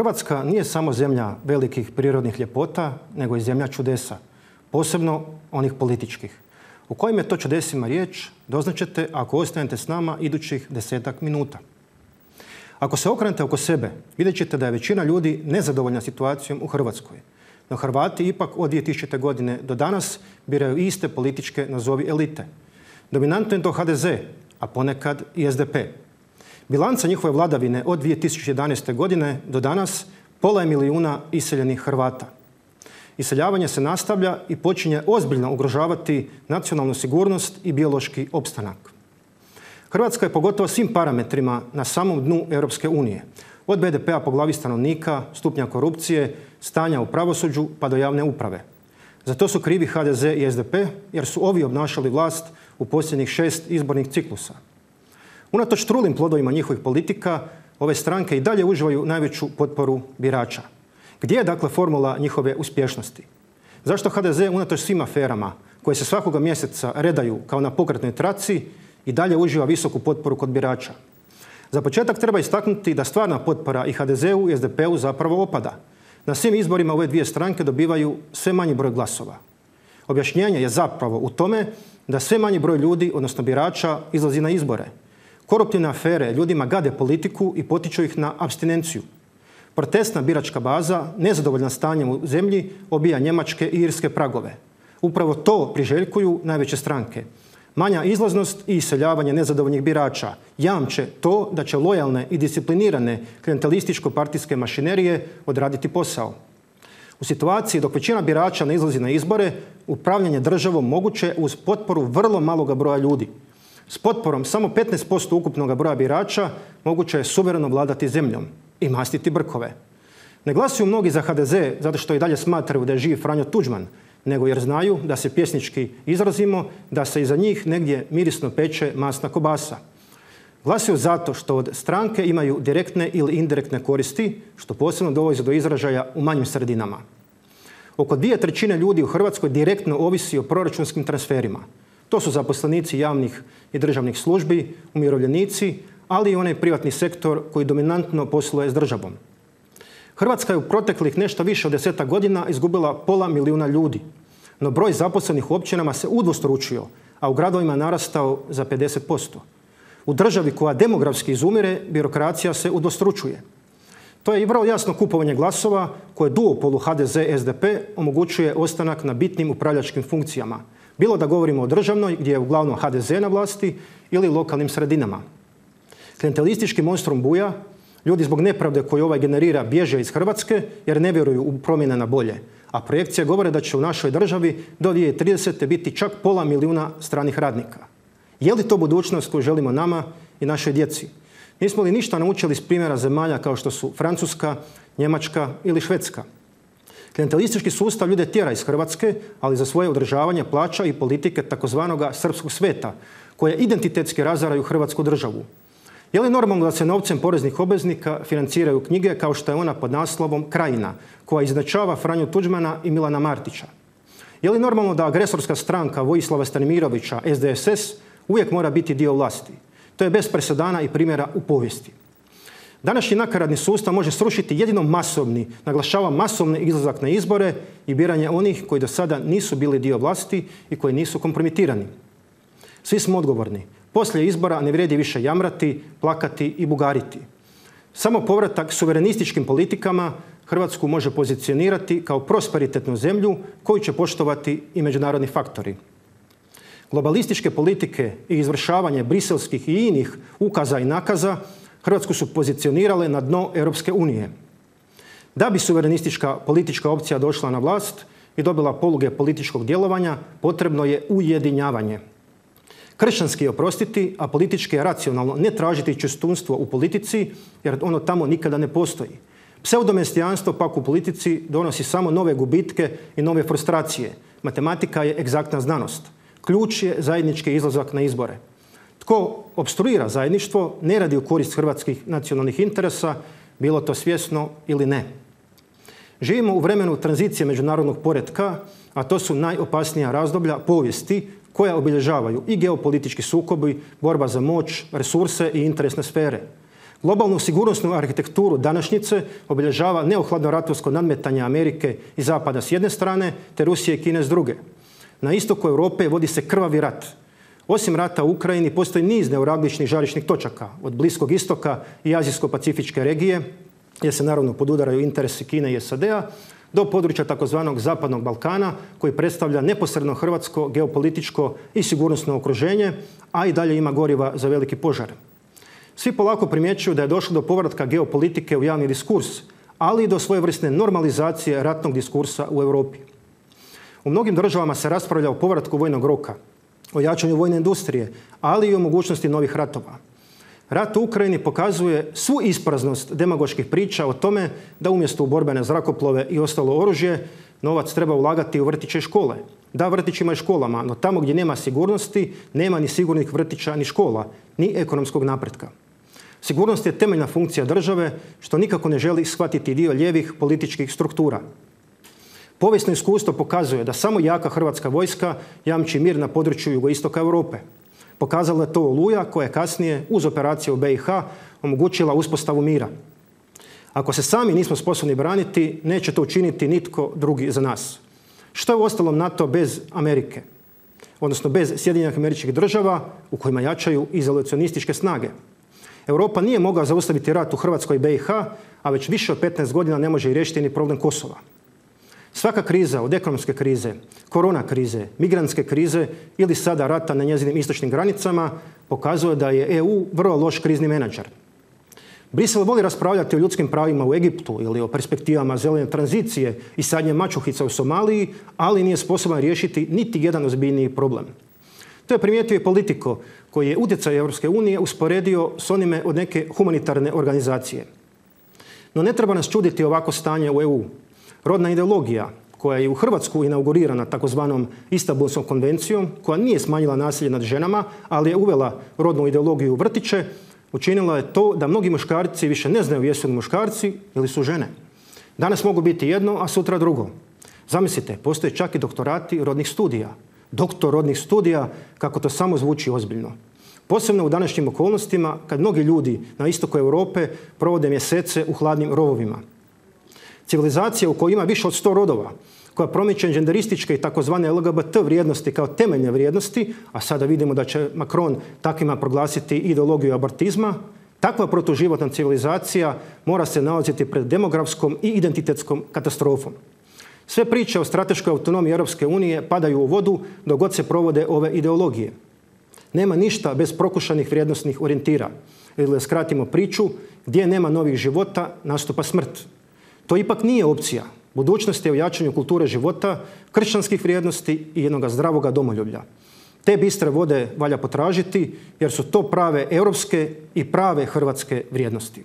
Hrvatska nije samo zemlja velikih prirodnih ljepota, nego i zemlja čudesa, posebno onih političkih. U kojim je to čudesima riječ, doznaćete ako ostanete s nama idućih 10-ak minuta. Ako se okrenete oko sebe, vidjet ćete da je većina ljudi nezadovoljna situacijom u Hrvatskoj. No Hrvati ipak od 2000. godine do danas biraju iste političke nazovi elite. Dominantno je to HDZ, a ponekad i SDP. Bilanca njihove vladavine od 2011. godine do danas pola je milijuna iseljenih Hrvata. Iseljavanje se nastavlja i počinje ozbiljno ugrožavati nacionalnu sigurnost i biološki opstanak. Hrvatska je pogotovo svim parametrima na samom dnu Europske unije. Od BDP-a po glavi stanovnika, stupnja korupcije, stanja u pravosuđu pa do javne uprave. Za to su krivi HDZ i SDP jer su ovi obnašali vlast u posljednjih 6 izbornih ciklusa. Unatoč trulim plodovima njihovih politika, ove stranke i dalje uživaju najveću potporu birača. Gdje je dakle formula njihove uspješnosti? Zašto HDZ unatoč svim aferama koje se svakoga mjeseca redaju kao na pokretnoj traci i dalje uživa visoku potporu kod birača? Za početak treba istaknuti da stvarna potpora i HDZ-u i SDP-u zapravo opada. Na svim izborima ove dvije stranke dobivaju sve manji broj glasova. Objašnjenje je zapravo u tome da sve manji broj ljudi, odnosno birača, izlazi na izbore. Koruptivne afere ljudima gade politiku i potiču ih na apstinenciju. Protestna biračka baza, nezadovoljna stanjem u zemlji, obija njemačke i irske pragove. Upravo to priželjkuju najveće stranke. Manja izlaznost i iseljavanje nezadovoljnih birača jamče to da će lojalne i disciplinirane klijentelističko-partijske mašinerije odraditi posao. U situaciji dok većina birača ne izlazi na izbore, upravljanje državom moguće uz potporu vrlo maloga broja ljudi. S potporom samo 15% ukupnog broja birača moguće je suvereno vladati zemljom i mastiti brkove. Ne glasuju mnogi za HDZ zato što i dalje smatraju da je živ Franjo Tuđman, nego jer znaju, da se pjesnički izrazimo, da se iza njih negdje mirisno peče masna kobasa. Glasuju zato što od stranke imaju direktne ili indirektne koristi, što posebno dovodi do izražaja u manjim sredinama. Oko 2/3 ljudi u Hrvatskoj direktno ovisi o proračunskim transferima. To su zaposlenici javnih i državnih službi, umirovljenici, ali i onaj privatni sektor koji dominantno posluje s državom. Hrvatska je u proteklih nešto više od 10 godina izgubila pola milijuna ljudi, no broj zaposlenih u općinama se udvostručio, a u gradovima narastao za 50%. U državi koja demografski izumire, birokracija se udvostručuje. To je i vrlo jasno kupovanje glasova koje duopolu HDZ-SDP omogućuje ostanak na bitnim upravljačkim funkcijama. Bilo da govorimo o državnoj, gdje je uglavnom HDZ na vlasti, ili lokalnim sredinama. Klijentelistički monstrum buja, ljudi zbog nepravde koju ovaj generira bježe iz Hrvatske jer ne vjeruju u promjene na bolje. A projekcije govore da će u našoj državi do 2030. biti čak pola milijuna stranih radnika. Je li to budućnost koju želimo nama i našoj djeci? Nismo li ništa naučili iz primjera zemalja kao što su Francuska, Njemačka ili Švedska? Klijentelistički sustav ljude tjera iz Hrvatske, ali za svoje održavanje plaća i politike takozvanog srpskog sveta, koje identitetski razaraju Hrvatsku državu. Je li normalno da se novcem poreznih obveznika financiraju knjige kao što je ona pod naslovom Krajina, koja izjednačava Franju Tuđmana i Milana Martića? Je li normalno da agresorska stranka Vojislava Stanimirovića, SDSS, uvijek mora biti dio vlasti? To je bez presedana i primjera u povijesti. Današnji nakaradni sustav može srušiti jedino masovni, naglašavam masovni izlazak na izbore i biranje onih koji do sada nisu bili dio vlasti i koji nisu kompromitirani. Svi smo odgovorni. Poslije izbora ne vrijedi više jamrati, plakati i bugariti. Samo povratak suverenističkim politikama Hrvatsku može pozicionirati kao prosperitetnu zemlju koju će poštovati i međunarodni faktori. Globalističke politike i izvršavanje briselskih i inih ukaza i nakaza Hrvatsku su pozicionirale na dno Europske unije. Da bi suverenistička politička opcija došla na vlast i dobila poluge političkog djelovanja, potrebno je ujedinjavanje. Kršćanski je oprostiti, a politički je racionalno ne tražiti čistunstvo u politici, jer ono tamo nikada ne postoji. Pseudomesijanstvo pak u politici donosi samo nove gubitke i nove frustracije. Matematika je egzaktna znanost. Ključ je zajednički izlazak na izbore. Tko opstruira zajedništvo ne radi u korist hrvatskih nacionalnih interesa, bilo to svjesno ili ne. Živimo u vremenu tranzicije međunarodnog poretka, a to su najopasnija razdoblja povijesti koja obilježavaju i geopolitički sukobi, borba za moć, resurse i interesne sfere. Globalnu sigurnosnu arhitekturu današnjice obilježava neohladno ratovsko nadmetanje Amerike i Zapada s jedne strane, te Rusije i Kine s druge. Na istoku Europe vodi se krvavi rat. Osim rata u Ukrajini postoji niz neuralgičnih žarišnih točaka od Bliskog istoka i Azijsko-pacifičke regije, gdje se naravno podudaraju interesi Kine i SAD-a, do područja takozvanog Zapadnog Balkana, koji predstavlja neposredno hrvatsko geopolitičko i sigurnosno okruženje, a i dalje ima goriva za veliki požar. Svi polako primjećuju da je došlo do povratka geopolitike u javni diskurs, ali i do svojevrsne normalizacije ratnog diskursa u Europi. U mnogim državama se raspravlja o povratku vojnog roka, o jačanju vojne industrije, ali i o mogućnosti novih ratova. Rat u Ukrajini pokazuje svu ispraznost demagoških priča o tome da umjesto u borbene zrakoplove i ostalo oružje, novac treba ulagati u vrtiće i škole. Da, vrtićima i školama, no tamo gdje nema sigurnosti, nema ni sigurnih vrtića ni škola, ni ekonomskog napretka. Sigurnost je temeljna funkcija države, što nikako ne želi shvatiti dio lijevih političkih struktura. Povijesno iskustvo pokazuje da samo jaka hrvatska vojska jamči mir na području jugoistoka Europe. Pokazala je to Oluja, koja je kasnije uz operaciju u BiH omogućila uspostavu mira. Ako se sami nismo sposobni braniti, neće to učiniti nitko drugi za nas. Što je uostalom NATO bez Amerike? Odnosno bez Sjedinjenih Američkih Država u kojima jačaju izolacionističke snage. Europa nije mogla zaustaviti rat u Hrvatskoj i BiH, a već više od 15 godina ne može i riješiti ni problem Kosova. Svaka kriza, od ekonomske krize, korona krize, migrantske krize ili sada rata na njezinim istočnim granicama, pokazuje da je EU vrlo loš krizni menadžer. Brisel voli raspravljati o ljudskim pravima u Egiptu ili o perspektivama zelene tranzicije i sadnje mačuhica u Somaliji, ali nije sposoban riješiti niti jedan ozbiljniji problem. To je primijetio i Politico, koji je utjecaj Europske unije usporedio s onime od neke humanitarne organizacije. No ne treba nas čuditi ovako stanje u EU. Rodna ideologija, koja je u Hrvatsku inaugurirana takozvanom Istanbulskom konvencijom, koja nije smanjila nasilje nad ženama, ali je uvela rodnu ideologiju u vrtiće, učinila je to da mnogi muškarci više ne znaju jesu li muškarci ili su žene. Danas mogu biti jedno, a sutra drugo. Zamislite, postoje čak i doktorati rodnih studija. Doktor rodnih studija, kako to samo zvuči ozbiljno. Posebno u današnjim okolnostima, kad mnogi ljudi na istoku Europe provode mjesece u hladnim rovovima. Civilizacija u kojoj ima više od 100 rodova, koja promiče genderističke i takozvane LGBT vrijednosti kao temeljne vrijednosti, a sada vidimo da će Macron takvima proglasiti ideologiju abortizma, takva protuživotna civilizacija mora se nalaziti pred demografskom i identitetskom katastrofom. Sve priče o strateškoj autonomiji Europske unije padaju u vodu dok god se provode ove ideologije. Nema ništa bez prokušanih vrijednosnih orijentira. Ili da skratimo priču, gdje nema novih života, nastupa smrt. To ipak nije opcija. Budućnost je u jačanju kulture života, kršćanskih vrijednosti i jednog zdravoga domoljublja. Te bistre vode valja potražiti jer su to prave europske i prave hrvatske vrijednosti.